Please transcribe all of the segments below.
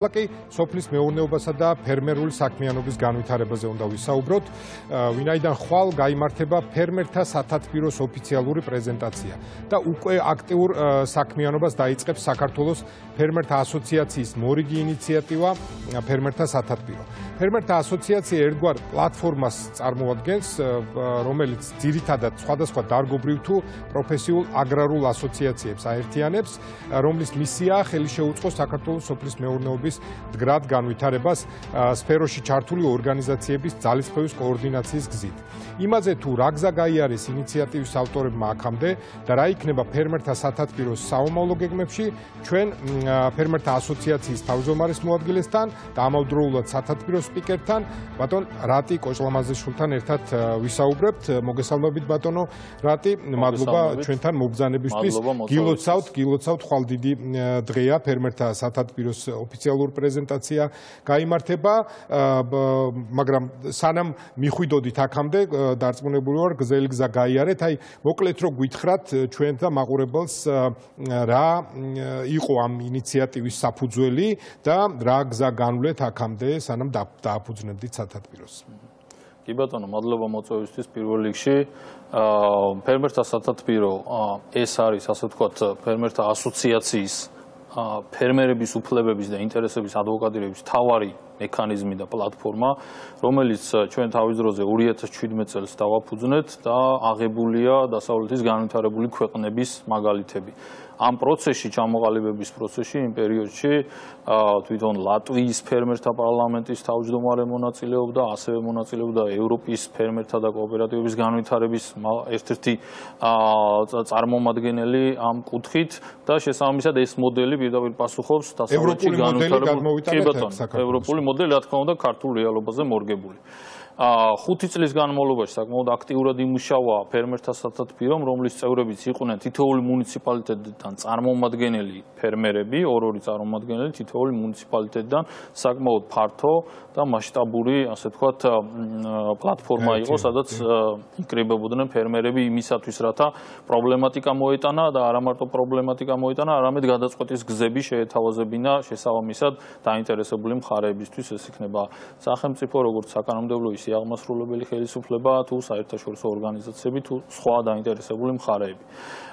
Ლაკი სოფლის მეურნეობასა და ფერმერული საქმიანობის განვითარებაზე უნდა ვისაუბროთ, ვინაიდან ხვალ გაიმართება ფერმერთა სათათბიროს ოფიციალური პრეზენტაცია და უკვე აქტიურ საქმიანობას დაიწყებს საქართველოს ფერმერთა ასოციაციის მორიგი ინიციატივა ფერმერთა სათათბირო. ფერმერთა ასოციაცია ერთგვარ პლატფორმას წარმოადგენს, რომელიც ძირითადად სხვადასხვა დარგობრივ თუ პროფესიულ აგრარულ ასოციაციებს აერთიანებს, რომლის მისიაა ხელი შეუწყოს საქართველოს სოფლის მეურნეობის მდგრად განვითარებას სფეროში ჩართული ორგანიზაციების ძალისხმევის კოორდინაციის გზით. იმაზე თუ რა გზა გაიარეს ინიციატივის ავტორებმა აქამდე და რა იქნება ფერმერთა სათათბიროს საომავლო გეგმებში, ჩვენ ფერმერთა ასოციაციის თავმჯდომარის მოადგილესთან და ამავდროულად სათათბიროს სპიკერთან, ბატონ რატი კოჭლამაზეშვილთან ერთად ვისაუბრებთ. მოგესალმებით ბატონო რატი, მადლობა ჩვენთან მობრძანებისთვის. გილოცავთ, ხვალ დიდი დღეა ფერმერთა სათათბიროს ოფიციალური პრეზენტაცია გაიმართება, მაგრამ სანამ მიხვიდოდით აქამდე დარწმუნებული ვარ გზელი გზა გაიარეთ. აი მოკლედ რო გითხრათ ჩვენ და მაყურებელს რა იყო ამ ინიციატივის საფუძველი და რა გზა განვლეთ აქამდე სანამ დააფუძნებდით სათათბიროს. კი ბატონო, მადლობა მოწვევისთვის. პირველ რიგში ფერმერთა სათათბირო ეს არის, ასე ვთქვათ, ფერმერთა ასოციაციის ფერმერების უფლებების და ინტერესების ადვოკატირების მთავარი მექანიზმი და პლატფორმა, რომელიც ჩვენ თავის დროზე 2017 წელს დავაფუძნეთ და აღებულია დასავლეთის განვითარებული ქვეყნების მაგალითები. ამ პროცესში, ჩამოყალიბების პროცესში, იმ პერიოდში თვითონ ლატვიის ფერმერთა პარლამენტის თავმჯდომარე მონაწილეობდა, ასევე მონაწილეობდა ევროპის ფერმერთა და კოოპერატივების განვითარების ერთ-ერთი წარმომადგენელი ამ კუთხით და შესაბამისად ეს მოდელი პირდაპირ პასუხობს დასავლეთში განვითარებულ ევროპული მოდელი, რა თქმა უნდა, ქართულ რეალობაზე მორგებული. 5 წლის განმავლობაში საკმაოდ აქტიურად იმუშავა ფერმერთა სათათბირომ, რომლის წევრებიც იყვნენ თითოეული მუნიციპალიტეტიდან წარმომადგენელი ფერმერები, ორი წარმომადგენელი თითოეული მუნიციპალიტეტიდან, საკმაოდ ფართო და მასშტაბური, ასე ვთქვათ, პლატფორმა იყო, სადაც იკრიბებოდნენ ფერმერები იმისათვის, რათა პრობლემატიკა მოეტანა და არა მარტო პრობლემატიკა მოეტანა, არამედ გადაწყვეტის გზები შეეთავაზებინა შესაბამისად დაინტერესებული მხარეებისთვის, ეს იქნება სახელმწიფო, როგორც საკანონმდებლო აღმასრულებელი ხელისუფლება თუ საერთაშორისო ორგანიზაციები თუ სხვა დაინტერესებული მხარეები.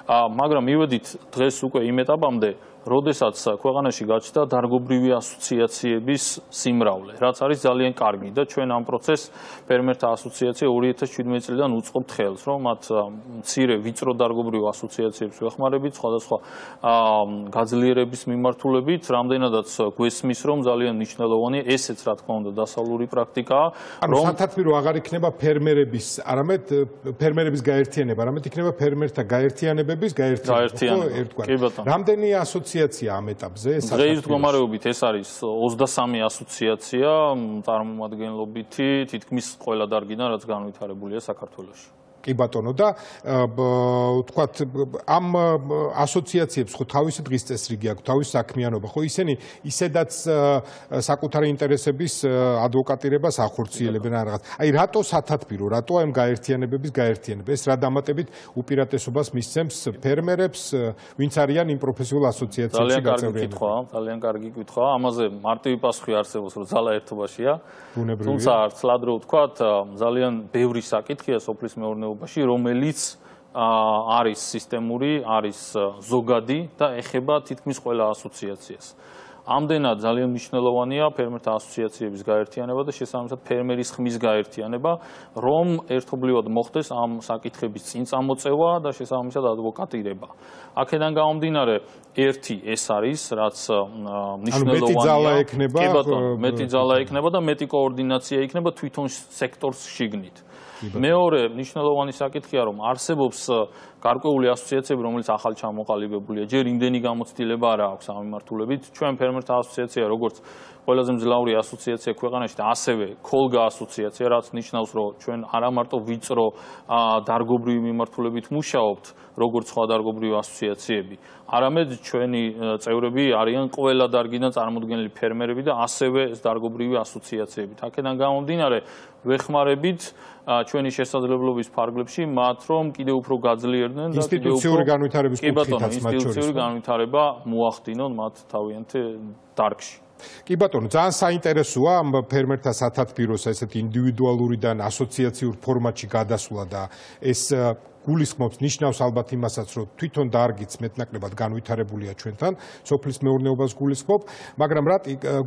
მაგრამ მივედით დღეს უკვე იმ ეტაპამდე, როდესაც ქვეყანაში გაჩნდა დარგობრივი ასოციაციების სიმრავლე, რაც არის ძალიან კარგი და ჩვენ ამ პროცესს ფერმერთა ასოციაცია 2017 წლიდან უწყობთ ხელს, რომ მათ მცირე ვიწრო დარგობრივ ასოციაციებს ვეხმარებით, სხვადასხვა გაძლიერების მიმართულებით, რამდენადაც გვესმის, რომ ძალიან მნიშვნელოვანი ესეც რა თქმა უნდა დასავლური პრაქტიკაა, რომ სათათბირო აღარ იქნება ფერმერების, არამედ ფერმერების გაერთიანება, არამედ იქნება ფერმერთა გაერთიანებების გაერთიანება. რამდენი ასოციაცია ამ ეტაპზე? დღეის მდგომარეობით ეს არის 23 ასოციაცია, წარმომადგენლობითი თითქმის ყველა დარგიდან, რაც განვითარებულია საქართველოში. კი ბატონო და ვთქვათ ამ ასოციაციებს ხო თავისი დღის წესრიგი აქვს, თავისი საქმიანობა, ხო ისინი ისედაც საკუთარი ინტერესების ადვოკატირებას ახორციელებენ რაღაც. აი რატო სათათბირო, რატო ამ გაერთიანებების გაერთიანება? ეს რა დამატებით უპირატესობას მისცემს ფერმერებს, ვინც არიან იმ პროფესიულ ასოციაციებში გაწევრიანებული? ძალიან კარგი კითხვაა. ამაზე მარტივი პასუხი არსებობს, რომ ძალა ერთობაშია. თუმცა ცლად რო ვთქვათ, ძალიან ბევრი საკითხია სოფლის მეურნეობაში, რომელიც არის სისტემური, არის ზოგადი და ეხება თითქმის ყველა ასოციაციას. ამდენად ძალიან მნიშვნელოვანია ფერმერთა ასოციაციების გაერთიანება და შესაბამისად ფერმერის ხმის გაერთიანება, რომ ერთობლივად მოხდეს ამ საკითხების წინ წამოწევა და შესაბამისად ადვოკატირება. აქედან გამომდინარე, ერთი ეს არის, რაც მნიშვნელოვანია. მეტი ძალა ექნება და მეტი კოორდინაცია იქნება თვითონ სექტორს შიგნით. მეორე მნიშვნელოვანი საკითხია, რომ არსებობს გარკვეული ასოციაციები, რომელიც ახალ ჩამოყალიბებულია. ჯერ იმდენი გამოცდილება არ აქვს ამ მიმართულებით. ჩვენ ფერმერთა ასოციაცია, როგორც ყველაზე მძლავრი ასოციაცია ქვეყანაში და ასევე ქოლგა ასოციაცია, რაც ნიშნავს, რომ ჩვენ არა მარტო ვიწრო დარგობრივი მიმართულებით მუშაობთ, როგორც სხვა დარგობრივი ასოციაციები, არამედ ჩვენი წევრები არიან ყველა დარგიდან წარმოდგენილი ფერმერები და ასევე დარგობრივი ასოციაციები. აქედან გამომდინარე, ვეხმარებით ჩვენი შესაძლებლობის ფარგლებში მათ, რომ კიდევ უფრო გაძლიერდნენ და ინსტიტუციური განვითარების კუთხითაც მათ შორის ინსტიტუციური განვითარება მოახდინონ მათ თავიანთ დარგში. კი ბატონო, ძალიან საინტერესოა ამ ფერმერთა სათათბიროს ესეთ ინდივიდუალურიდან ასოციაციურ ფორმატში გადასვლა და ეს გულისხმობს ნიშნავს ალბათ იმასაც, რომ თვითონ დარგიც მეტნაკლებად განვითარებულია ჩვენთან, სოფლის მეურნეობას გულისხმობ, მაგრამ რა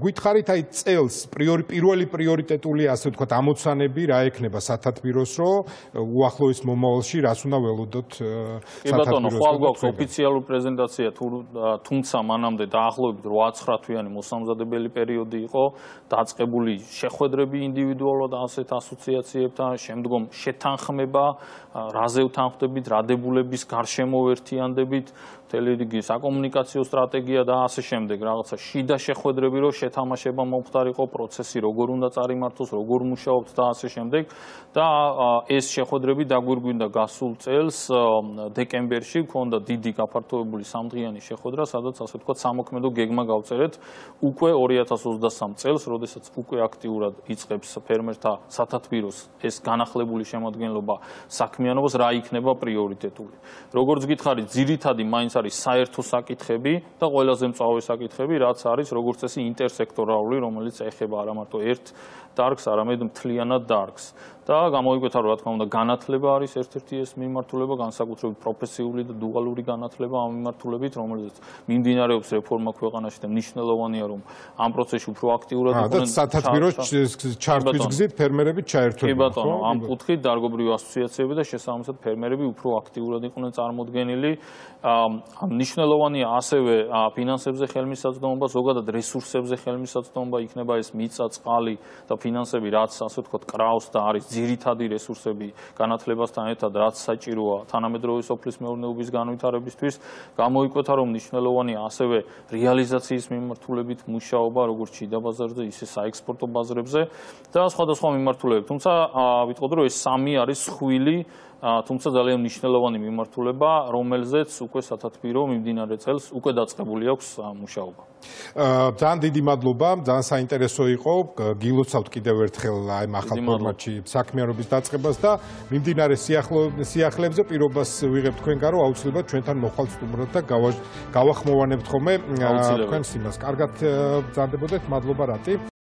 გითხარით აი წელს პირველი პრიორიტეტული ასე ვთქვათ ამოცანები რა ექნება სათათბიროს, რომ უახლოეს მომავალში რას უნდა ველოდოთ სათათბიროს. კი ბატონო, ხვალ გვაქვს ოფიციალური პრეზენტაცია, თუმცა მანამდე დაახლოებით 8-9 თვიანი მოსამზადებელი პერიოდი იყო, დაწყებული შეხვედრები ინდივიდუალურად ასეთ ასოციაციებთან, შემდგომ შეთანხმება, რაზე ვთანხმდებით, რა დებულების გარშემო ერთიანდებით, მთელი რიგი საკომუნიკაციო სტრატეგია და ასე შემდეგ, რაღაცა შიდა შეხვედრები, რომ შეთამაშება მომხდარიყო, პროცესი როგორ უნდა წარიმართოს, როგორ მუშაობთ და ასე შემდეგ. და ეს შეხვედრები დაგვირგვინდა გასულ წელს დეკემბერში, ქონდა დიდი გაფართოებული სამდღიანი შეხვედრა, სადაც ასე ვთქვათ სამოქმედო გეგმა გავწერეთ უკვე 2023 წელს, როდესაც უკვე აქტიურად იწყებს ფერმერთა სათათბიროს ეს განახლებული შემადგენლობა საქმიანობას, რა იქნება პრიორიტეტული. როგორც გითხარით, ძირითადი მაინც არის საერთო საკითხები და ყველაზე მწვავე საკითხები, რაც არის როგორც წესი ინტერსექტორალური, რომელიც ეხება არა მარტო ერთ დარგს, არამედ მთლიანად დარგს. და გამოიკვეთა, რომ რა თქმა უნდა, განათლება არის ერთ-ერთი ეს მიმართულება, განსაკუთრებით პროფესიული და დუალური განათლება ამ მიმართულებით, რომელიც მიმდინარეობს რეფორმა ქვეყანაში და მნიშვნელოვანია, რომ ამ პროცესში უფრო აქტიურად იყვნენ. და სათათბიროს ჩართვის გზით ფერმერები ჩაერთვებიან. კი ბატონო, ამ კუთხით დარგობრივი ასოციაციები და შესაბამისად ფერმერები უფრო აქტიურად იყვნენ წარმოდგენილი. მნიშვნელოვანია ასევე ფინანსებზე ხელმისაწვდომობა, ზოგადად რესურსებზე ხელმისაწვდომობა, იქნება ეს მიწა, წყალი და ფინანსები, რაც ასე ვთქვათ, კრავს და არის ძირითადი რესურსები განათლებასთან ერთად, რაც საჭიროა თანამედროვე სოფლის მეურნეობის განვითარებისთვის. გამოიკვეთა, რომ მნიშვნელოვანია ასევე რეალიზაციის მიმართულებით მუშაობა, როგორც შიდა ბაზარზე, ისე საექსპორტო ბაზრებზე და სხვადასხვა მიმართულებებით. თუმცა ვიტყოდ, რომ ეს სამი არის ხვილი, თუმცა ძალიან მნიშვნელოვანი მიმართულება, რომელზეც უკვე სათათბირო მიმდინარე წელს უკვე დაწყებული აქვს მუშაობა. ძალიან დიდი მადლობა, ძალიან საინტერესო იყო. გილოცავთ კიდევ ერთხელ აი ახალ ფორმატში საქმიანობის დაწყებას და მიმდინარე სიახლეებზე პირობას ვიღებთ თქვენგან, რომ აუცილებლად ჩვენთან მოხვალთ სტუმრად და გავახმოვანებთ ხოლმე თქვენს იმას. კარგად ბრძანდებოდეთ, მადლობა რატი.